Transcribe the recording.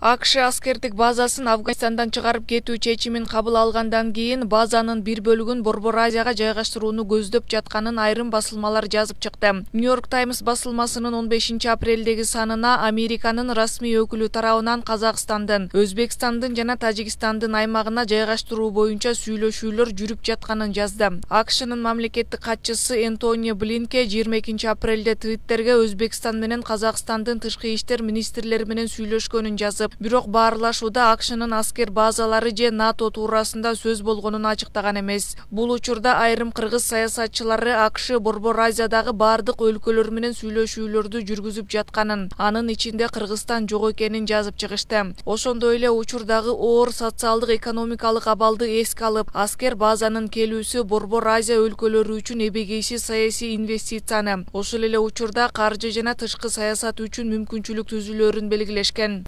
АКШ аскердик базасын Афганистандан чыгарып кетүү чечимин кабыл алгандан кийин базанын бир бөлүгүн Борбор Азияга жайгаштырууну көздөп жатканын айрым басылмалар жазып чыкты. Нью-Йорк Таймс басылмасынын 15-апрелдеги санына Американын расмий өкүлү тарабынан Казакстандын, Өзбекстандын жана Тажикстандын аймагына жайгаштыруу боюнча сүйлөшүүлөр жүрүп жатканын жазды. АКШнын мамлекеттик катчысы Энтони Блинкен 22-апрелде Твиттерге Өзбекстан менен Казакстандын тышкы иштер министрлери менен сүйлөшкөнүн жазып, бирок баарлашууда АКШнын аскер базалары же НАТО туурасында сөз болгонун ачыктаган эмес. Бул учурда айрым кыргыз саясатчылары АКШ Борбор Азиядагы бардык өлкөлөр менен сүйлөшүүлөрдү жүргүзүп жатканын, анын ичинде Кыргызстан жок экенин жазып чыгышты. Ошондой эле учурдагы оор социалдык экономикалык абалды эске алып, аскер базанын келүүсү Борбор Азия өлкөлөрү үчүн эбегейсиз саясий инвестицияны, ошол эле учурда каржы жана тышкы саясат үчүн мүмкүнчүлүк түзүлөрүн белгилешкен.